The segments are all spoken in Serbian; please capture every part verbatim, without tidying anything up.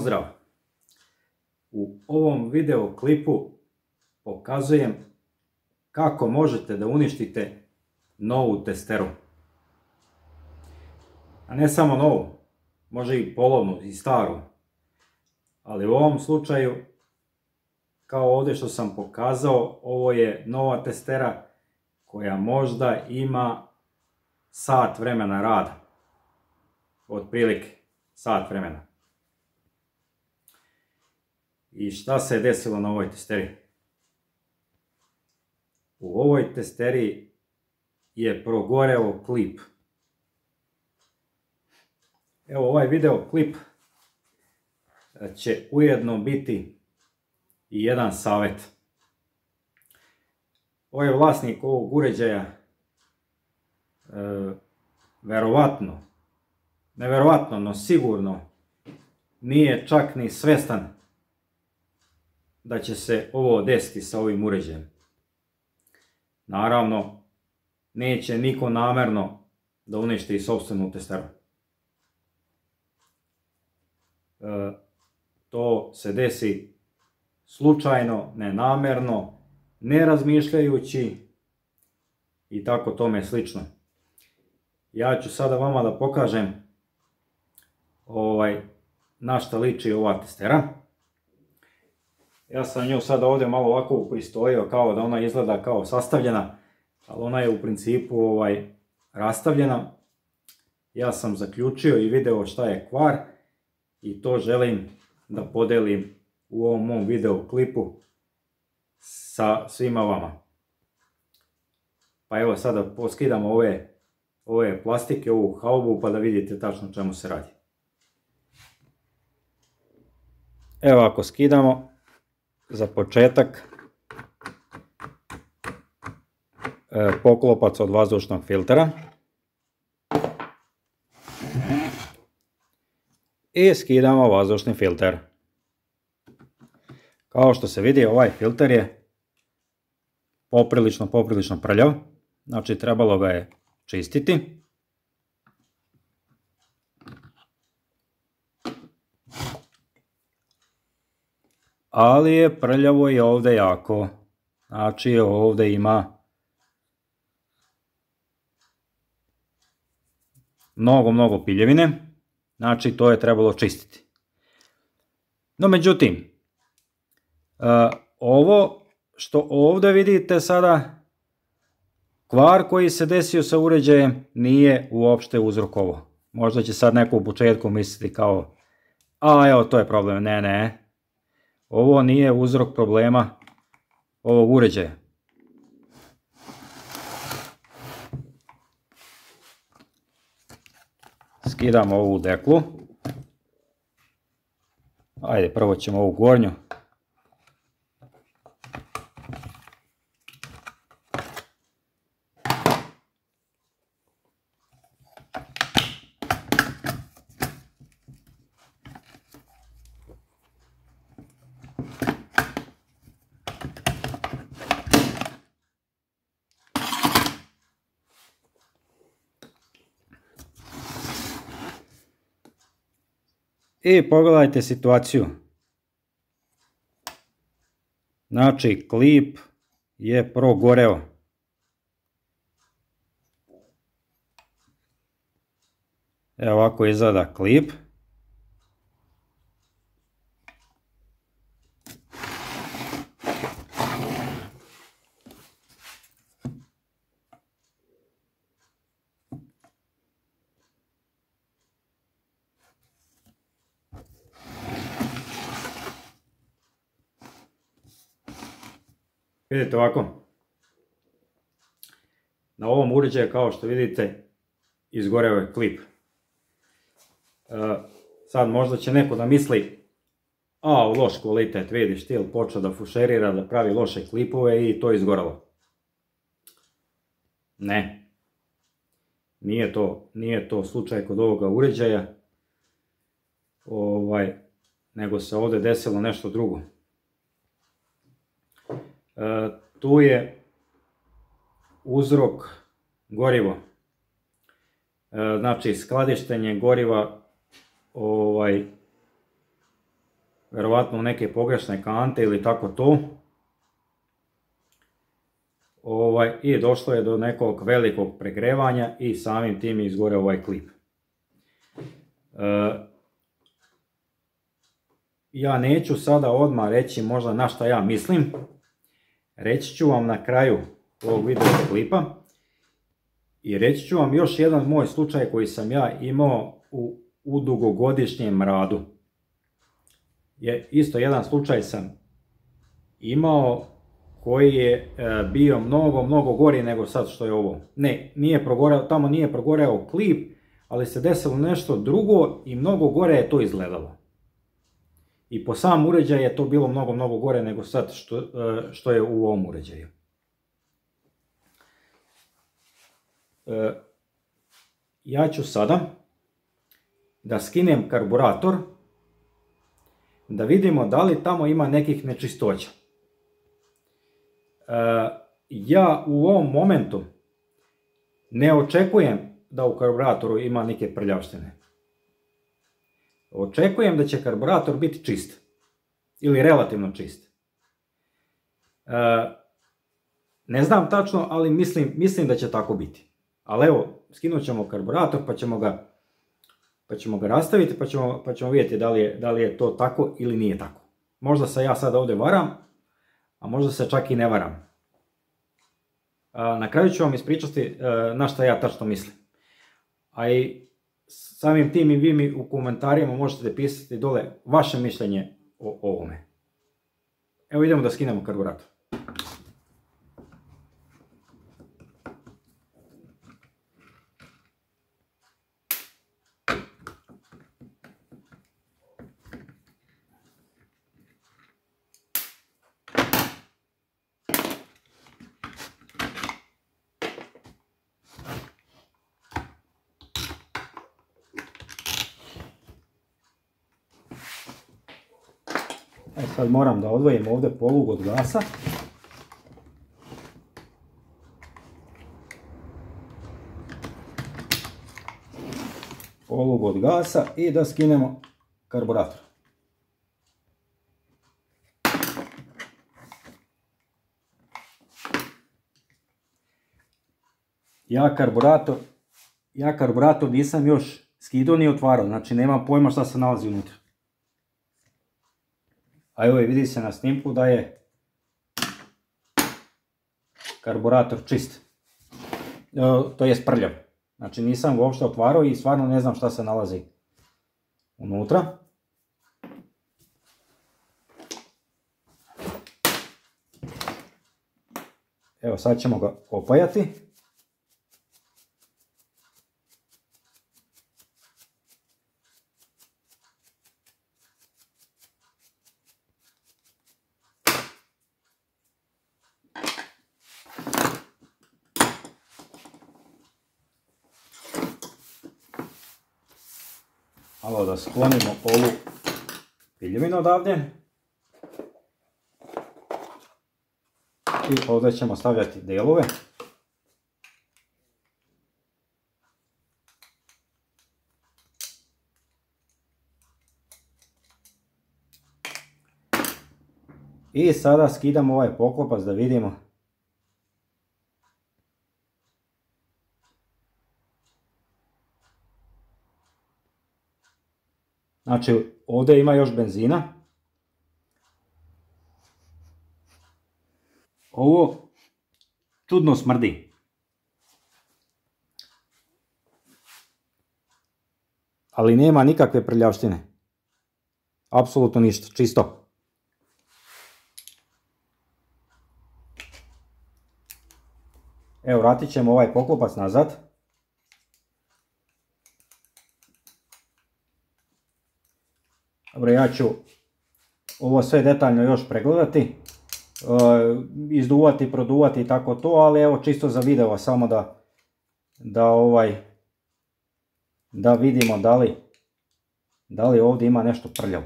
pozdrav! U ovom video klipu pokazujem kako možete da uništite novu testeru. A ne samo novu, može i polovnu i staru. Ali u ovom slučaju, kao ovdje što sam pokazao, ovo je nova testera koja možda ima sat vremena rada. Otprilike sat vremena. I šta se je desilo na ovoj testeri? U ovoj testeri je progoreo klip. Evo, ovaj video klip će ujedno biti i jedan savjet. Ovaj vlasnik ovog uređaja e, verovatno, ne verovatno, no sigurno nije čak ni svestan da će se ovo desiti sa ovim uređajem. Naravno, neće niko namerno da uništi sopstvenu testeru. E, to se desi slučajno, nenamerno, ne razmišljajući i tako tome slično. Ja ću sada vama da pokažem ovaj, na šta liči ova testera. Ja sam nju sada ovdje malo ovako upristojio kao da ona izgleda kao sastavljena, ali ona je u principu ovaj, rastavljena. Ja sam zaključio i video šta je kvar i to želim da podelim u ovom mom video klipu sa svima vama. Pa evo sada poskidamo ove, ove plastike, ovu haubu, pa da vidite tačno čemu se radi. Evo, ako skidamo, za početak e, poklopac od vazdušnog filtera i skidamo vazdušni filter. Kao što se vidi, ovaj filter je poprilično, poprilično prljav, znači trebalo ga je čistiti. Ali je prljavo i ovdje jako, znači ovdje ima mnogo, mnogo piljevine, znači to je trebalo čistiti. No međutim, ovo što ovdje vidite sada, kvar koji se desio sa uređajem nije uopšte uzrok ovo. Možda će sad neko u početku misliti kao, a evo to je problem, ne, ne. Ovo nije uzrok problema ovog uređaja. Skidamo ovu deklu. Ajde, prvo ćemo ovu gornju. I pogledajte situaciju. Znači, klip je progoreo. Evo ovako izgleda klip. Vidite ovako, na ovom uređaju kao što vidite izgoreo je klip. E, sad možda će neko da misli, a loš kvalitet, vidiš ti, počeo da fušerira, da pravi loše klipove i to je izgoralo. Ne, nije to, nije to slučaj kod ovoga uređaja, ovaj, nego se ovdje desilo nešto drugo. E, tu je uzrok gorivo. E, znači skladištenje goriva ovaj, verovatno u neke pogrešne kante ili tako to. Ovaj, i došlo je do nekog velikog pregrevanja i samim tim je izgoreo ovaj klip. E, ja neću sada odmah reći možda na šta ja mislim, reći ću vam na kraju ovog video klipa i reći ću vam još jedan moj slučaj koji sam ja imao u, u dugogodišnjem radu. Je, isto jedan slučaj sam imao koji je bio mnogo, mnogo gori nego sad što je ovo. Ne, nije progoreo, tamo nije progoreo klip, ali se desilo nešto drugo i mnogo gore je to izgledalo. I po sam uređaj je to bilo mnogo, mnogo gore nego sad što, što je u ovom uređaju. Ja ću sada da skinem karburator, da vidimo da li tamo ima nekih nečistoća. Ja u ovom momentu ne očekujem da u karburatoru ima neke prljavštine. Očekujem da će karburator biti čist. Ili relativno čist. Ne znam tačno, ali mislim, mislim da će tako biti. Ali evo, skinut ćemo karburator pa ćemo ga, pa ćemo ga rastaviti pa ćemo, pa ćemo vidjeti da li, je, da li je to tako ili nije tako. Možda se ja sad ovdje varam, a možda se čak i ne varam. Na kraju ću vam ispričati na šta ja tačno mislim. A i samim tim i vi mi u komentarima možete pisati dole vaše mišljenje o ovome. Evo idemo da skinemo karburator. E sad moram da odvojim ovdje polug od gasa. Polug od gasa i da skinemo karburator. Ja karburator, ja karburator nisam još skidao ni otvarao, znači nemam pojma šta se nalazi unutra. A evo vidi se na snimku da je karburator čist, to je prljav. Znači nisam ga uopšte otvarao i stvarno ne znam šta se nalazi unutra. Evo sad ćemo ga opajati. Malo da sklonimo ovu piljevinu odavdje. I ovdje ćemo stavljati delove. I sada skidamo ovaj poklopac da vidimo. Znači ovdje ima još benzina. Ovo čudno smrdi. Ali nema nikakve prljavštine. Apsolutno ništa, čisto. Evo, vratit ćemo ovaj poklopac nazad. Dobro, ja ću ovo sve detaljno još pregledati, izduvati, produvati i tako to, ali evo čisto za video samo da, da, ovaj, da vidimo da li, da li ovdje ima nešto prljavo.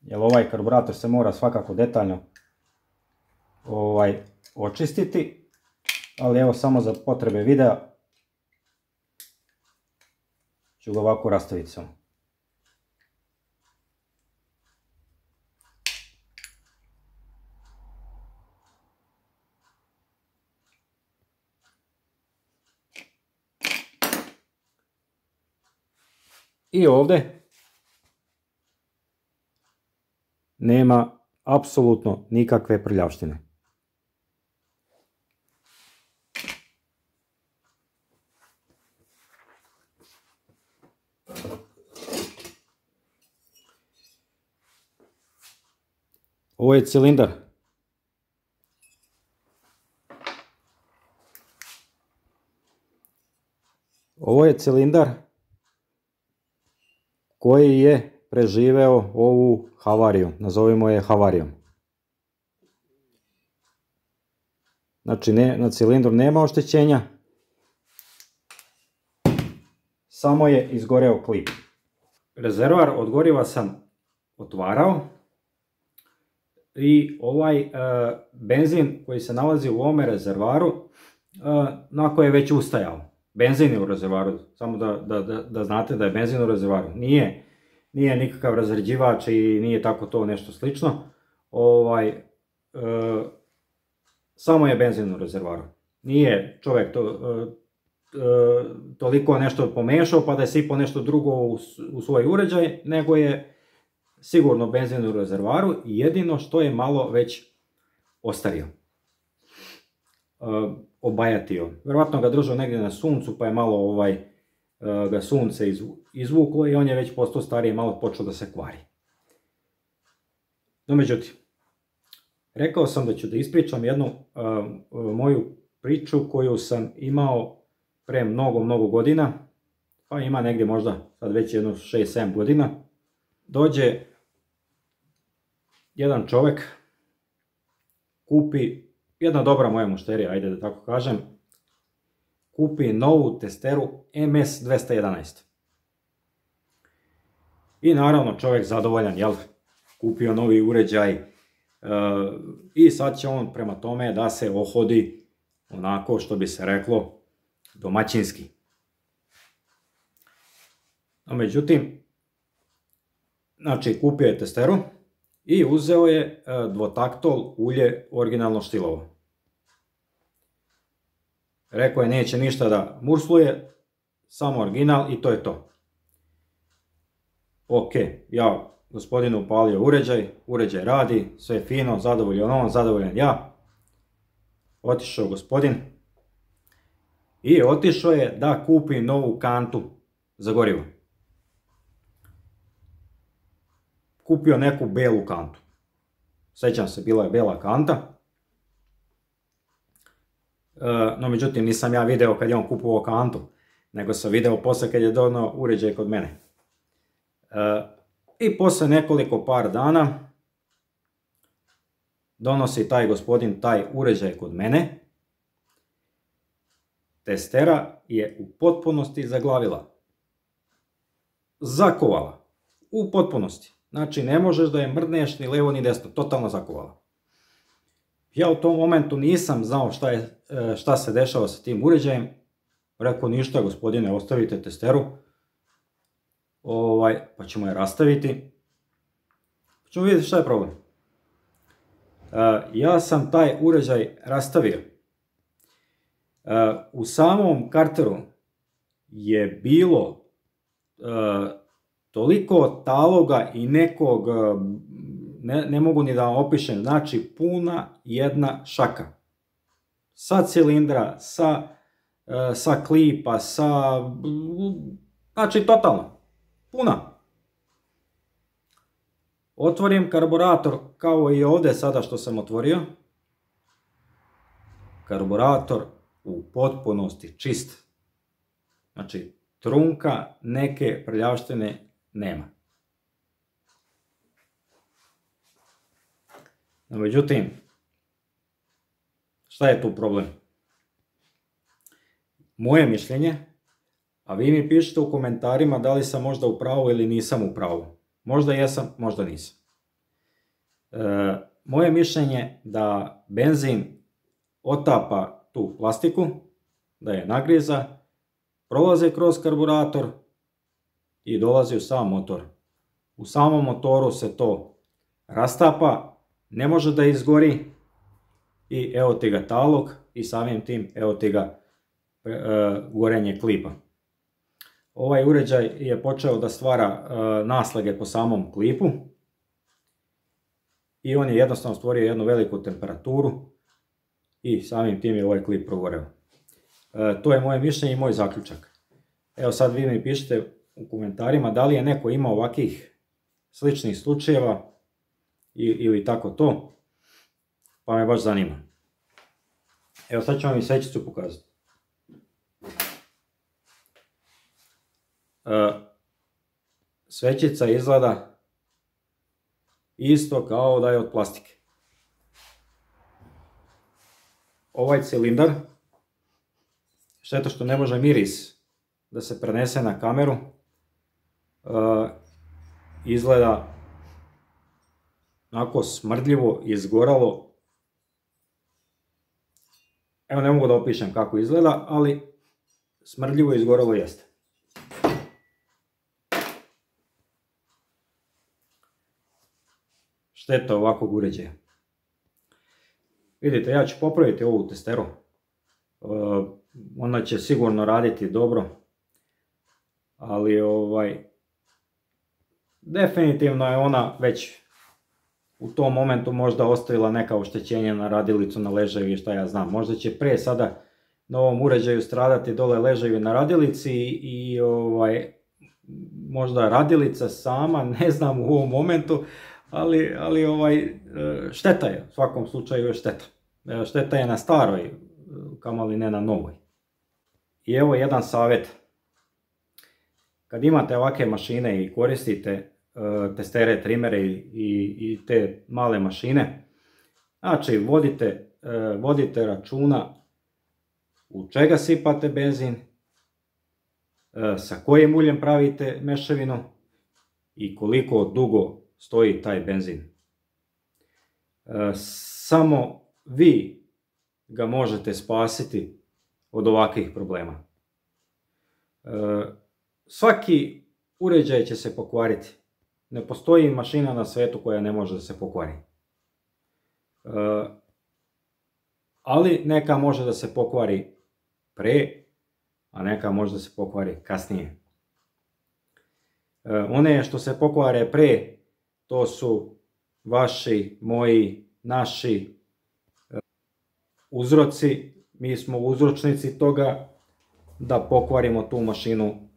Jer ovaj karburator se mora svakako detaljno ovaj, očistiti, ali evo samo za potrebe videa ću ga ovako rastaviti samo. I ovdje nema apsolutno nikakve prljavštine. Ovo je cilindar. Ovo je cilindar koji je preživeo ovu havariju, nazovimo je havarijom. Znači ne, na cilindru nema oštećenja, samo je izgoreo klip. Rezervoar od goriva sam otvarao i ovaj e, benzin koji se nalazi u ovome rezervoaru e, onako je već ustajao. Benzin je u rezervoaru, samo da, da, da, da znate da je benzin u rezervoaru. Nije, nije nikakav razređivač i nije tako to nešto slično. Ovaj, e, samo je benzin u rezervoaru. Nije čovjek to, e, e, toliko nešto pomešao pa da je sipao nešto drugo u, u svoj uređaj, nego je sigurno benzin u rezervoaru i jedino što je malo već ostario. E, obajatio. Vjerojatno ga držao negdje na suncu pa je malo ovaj, ga sunce izvuklo i on je već postao stariji, malo počeo da se kvari. No međutim, rekao sam da ću da ispričam jednu uh, moju priču koju sam imao pre mnogo, mnogo godina, pa ima negdje možda sad već jedno šest sedam godina. Dođe jedan čovjek, kupi, jedna dobra moja mušterija, ajde da tako kažem, kupi novu testeru M S dvesta jedanaest. I naravno čovjek zadovoljan, jel? Kupio novi uređaj e, i sad će on prema tome da se ohodi onako što bi se reklo domaćinski. No međutim, znači kupio je testeru i uzeo je e, dvotaktol ulje originalno Štilovo. Rekao je neće ništa da mursluje, samo original i to je to. Ok, ja gospodinu upalio uređaj, uređaj radi, sve je fino, zadovoljan on, zadovoljan ja. Otišao gospodin i otišao je da kupi novu kantu za gorivo. Kupio neku belu kantu. Sjećam se, bila je bela kanta. No međutim nisam ja video kad je on kupovao kantu, nego sam video posle kad je donao uređaj kod mene. I posle nekoliko par dana donosi taj gospodin taj uređaj kod mene. Testera je u potpunosti zaglavila. Zakovala. U potpunosti. Znači ne možeš da je mrdneš ni levo ni desno, totalno zakovala. Ja u tom momentu nisam znao šta, je, šta se dešava sa tim uređajem. Rekao ništa gospodine, ostavite testeru. Ovaj, pa ćemo je rastaviti. Pa ćemo vidjeti šta je problem. Uh, ja sam taj uređaj rastavio. Uh, u samom karteru je bilo uh, toliko taloga i nekog, uh, ne, ne mogu ni da vam opišem, znači puna jedna šaka. Sa cilindra, sa, uh, sa klipa, sa... Znači totalno. Puna. Otvorim karburator kao i ovdje sada što sam otvorio. Karburator u potpunosti čist. Znači trunka, neke prljavštine nema. No, međutim, šta je tu problem? Moje mišljenje, a vi mi pišite u komentarima da li sam možda u pravu ili nisam u pravu. Možda jesam, možda nisam. E, moje mišljenje da benzin otapa tu plastiku, da je nagriza, prolaze kroz karburator i dolazi u sam motor. U samom motoru se to rastapa, ne može da izgori i evo ti ga talog i samim tim evo ti ga e, gorenje klipa. Ovaj uređaj je počeo da stvara e, naslage po samom klipu i on je jednostavno stvorio jednu veliku temperaturu i samim tim je ovaj klip progoreo. E, to je moje mišljenje i moj zaključak. Evo sad vi mi pišite u komentarima da li je neko imao ovakvih sličnih slučajeva ili tako to, pa me baš zanima. Evo sad ću vam i svećicu pokazati. E, svećica izgleda isto kao da je od plastike. Ovaj cilindar, šteta što ne može miris da se prenese na kameru, e, izgleda onako smrdljivo, izgoralo. Evo ne mogu da opišem kako izgleda, ali smrdljivo izgoralo jeste. Šteta ovakvog uređaja. Vidite, ja ću popraviti ovu testeru. Ona će sigurno raditi dobro, ali ovaj, definitivno je ona već u tom momentu možda ostavila neka oštećenja na radilicu, na ležaju i šta ja znam. Možda će pre sada na ovom uređaju stradati dole ležaju na radilici i ovaj, možda radilica sama, ne znam u ovom momentu, ali, ali ovaj, šteta je, u svakom slučaju je šteta. Šteta je na staroj, kamoli ne na novoj. I evo jedan savjet. Kad imate ovakve mašine i koristite testere, trimere i, i, i te male mašine, znači vodite, vodite računa u čega sipate benzin, sa kojim uljem pravite mešavinu i koliko dugo stoji taj benzin. Samo vi ga možete spasiti od ovakvih problema. Svaki uređaj će se pokvariti. Ne postoji mašina na svetu koja ne može da se pokvari. Ali neka može da se pokvari pre, a neka može da se pokvari kasnije. One što se pokvare pre, to su vaši, moji, naši uzroci. Mi smo uzročnici toga da pokvarimo tu mašinu,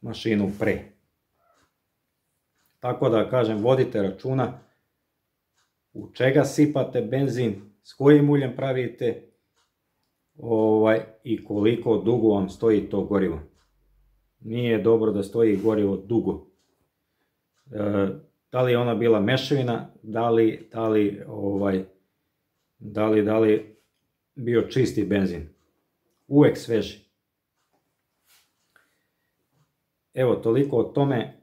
mašinu pre. Tako da kažem, vodite računa u čega sipate benzin, s kojim uljem pravite ovaj, i koliko dugo vam stoji to gorivo. Nije dobro da stoji gorivo dugo. E, da li je ona bila mešavina, da li, da li, ovaj, da li, da li bio čisti benzin. Uvek sveži. Evo, toliko o tome.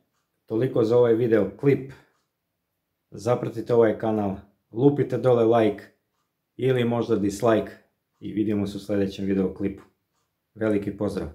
Toliko za ovaj video klip. Zapratite ovaj kanal, lupite dole like ili možda dislike i vidimo se u sljedećem video klipu. Veliki pozdrav!